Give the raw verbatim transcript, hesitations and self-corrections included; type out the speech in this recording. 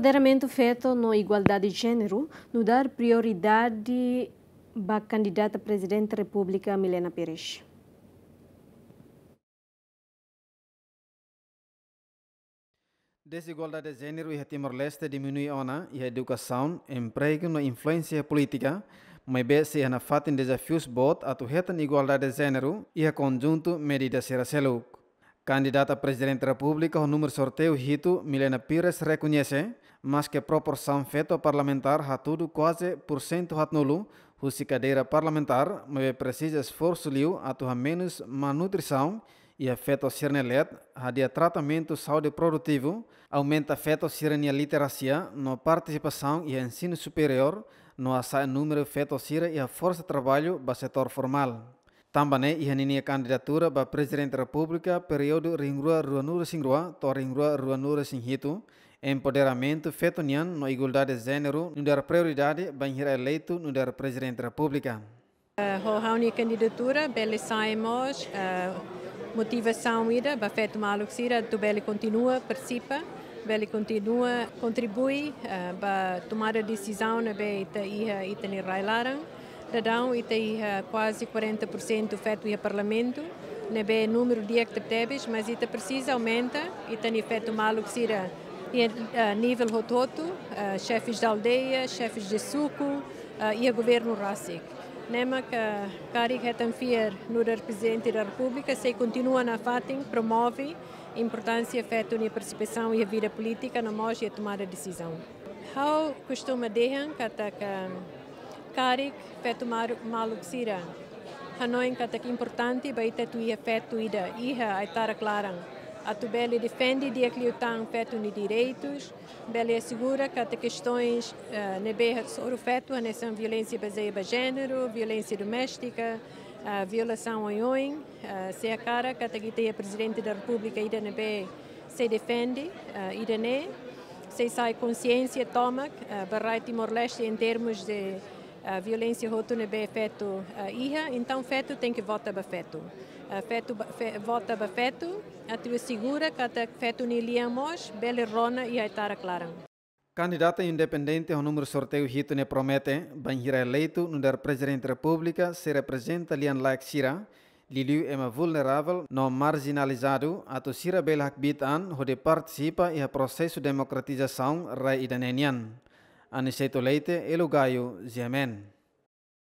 Empoderamentu feto no igualdade de jéneru nu'udar prioridade ba kandidata Prezidente Repúblika Milena Pires. Dezigualdade de jéneru iha Timor-Leste diminui ona iha edukasaun, empregu no influénsia polítika, maibé sei iha nafatin dezafius boot atu hetan igualdade de jéneru iha konjuntu medida sira seluk. Kandidata Prezidente Repúblika ho númeru sorteiu hitu, Milena Pires, rekoñese, maske proporsaun feto parlamentár hatudu kuaze pursentu haatnulu husi kadeira parlamentár, maibé presiza esforsu liu atu hamenus malnutrisaun iha feto sira-nia leet, hadi'a tratamentu saúde produtivu, aumenta feto sira-nia literasia no partisipasaun iha ensinu superiór, no hasa'e númeru feto sira iha forsa traballu ba setór formál. Tanba ne'e, iha ninia kandidatura ba Prezidente Repúblika períodu rihun rua ruanulu-resin-rua to'o rihun rua ruanulu-resin-hitu, empoderamentu feto nian no igualdade de jéneru nu'udar prioridade bainhira eleitu nu'udar Prezidente Repúblika. Eh, ho ha'u-nia kandidatura bele sai mós, eh, motivasaun ida ba feto maluk sira atu bele kontinua partisipa, bele kontinua kontribui, eh, ba tomada desizaun ne'ebé ita iha ita-nia rai-laran. Daudaun ita iha kuaze quarenta por cento feto iha Parlamentu, ne'ebé númeru di'ak tebetebes, mas ita presiza aumenta ita-nia feto maluk sira iha, eh, nivel hotu-hotu, eh, xefes de aldeia, xefes de suku, eh, iha governu rasik. Ne'e mak karik hetan fiar nu'udar Prezidente da Repúblika sei kontinua nafatin promove importánsia feto nia partisipasaun iha vida polítika no mós iha tomada desizaun. Ha'u kostuma dehan katak karik feto maru-, maluk sira hanoin katak importante ba ita atu iha feto ida iha ai-tarak laran atu bele defende di'ak liután feto nia direitus, bele asegura katak kestoins, eh, ne'ebé hasoru feto, hanesan violénsia bazeia ba jéneru, violénsia doméstika, eh, violasaun oioin, eh, sei hakarak katak ita iha Prezidente da Repúblika ida ne'ebé sei defende, eh, ida-ne'e, sei sai konsiénsia tomak, eh, ba rai Timor-Leste em termos de, eh, violénsia hotu ne'ebé feto, eh, iha, entaun feto tenke vota ba feto. Eh, feto ba, fe-, vota ba feto, atu asegura katak feto nia lian mós bele rona iha ai-tarak laran. Kandidata independente ho númeru sorteiu hitu ne'e promete, bainhira eleitu nu'udar Prezidente Repúblika, sei reprezenta lian-laek sira, liuliu ema vulneravel no marjinalizadu, atu sira bele hakbiit an hodi partisipa iha prosesu demokratizasaun rai ida-ne'e nian. Aniceto Leite, Elo Gayo, G M N.